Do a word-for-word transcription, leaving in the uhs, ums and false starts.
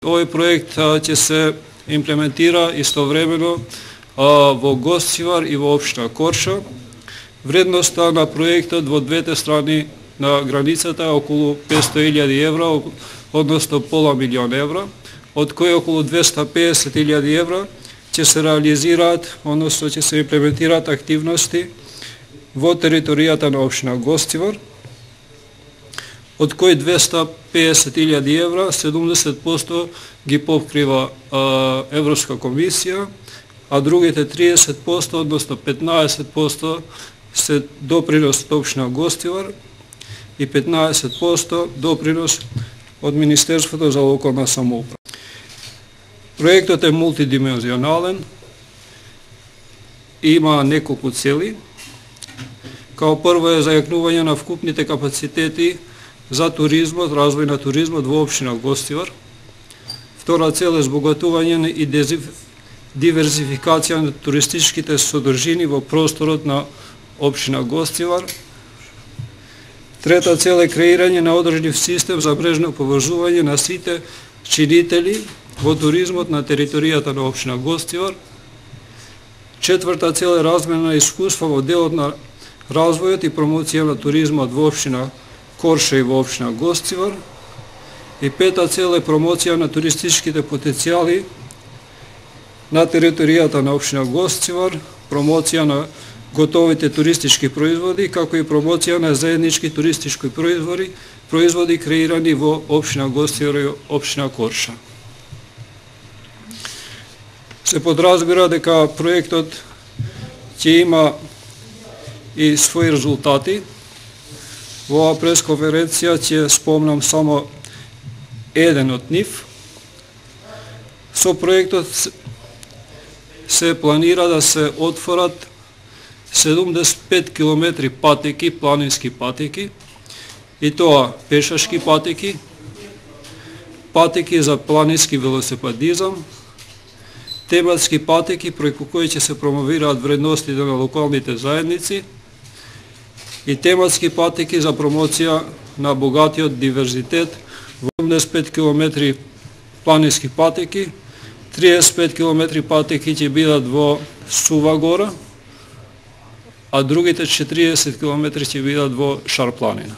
Овој проект ќе се имплементира истовремено во Гостивар и во општина Корша. Вредноста на проектот во двете страни на границата е околу петстотини илјади евра, односно пола милион евра, од кои околу двесте и песет илјади евра ќе се реализираат, односно ќе се имплементираат активности во територијата на општина Гостивар, од кои двесте и песет илјади евра, седумдесет проценти ги покрива а, Европска комисија, а другите триесет проценти, односно петнаесет проценти се допринос од општина Гостивар и петнаесет проценти допринос од Министерството за локална самоуправа. Проектот е мултидимензионален, има неколку цели. Као прво е зајакнување на вкупните капацитети за туризмот, развој на туризмот во општина Гостивар. Втора цел е збогатување и диверзификација на туристичките содржини во просторот на општина Гостивар. Трета цел е креирање на одржлив систем за мрежно поврзување на сите чинители во туризмот на територијата на општина Гостивар. Четврта цел е размена на искуства во делот на развојот и промоција на туризмот во општина Корша и во општина Гостивар. И пета цел е промоција на туристичките потенцијали на територијата на општина Гостивар, промоција на готовите туристички производи, како и промоција на заеднички туристички производи, производи креирани во општина Гостивар и општина Корша. Се подразбира дека проектот ќе има и своји резултати. Во оваа пресконференција ќе спомнам само еден од нив. Со проектот се планира да се отворат седумдесет и пет километри патеки, планински патеки, и тоа пешашки патеки, патеки за планински велосипедизам, тематски патеки преку кои ќе се промовираат вредностите на локалните заедници и тематски патеки за промоција на богатиот диверзитет во седумдесет и пет километри планински патеки, триесет и пет километри патеки ќе бидат во Сува гора, а другите четириесет километри ќе бидат во Шар планина.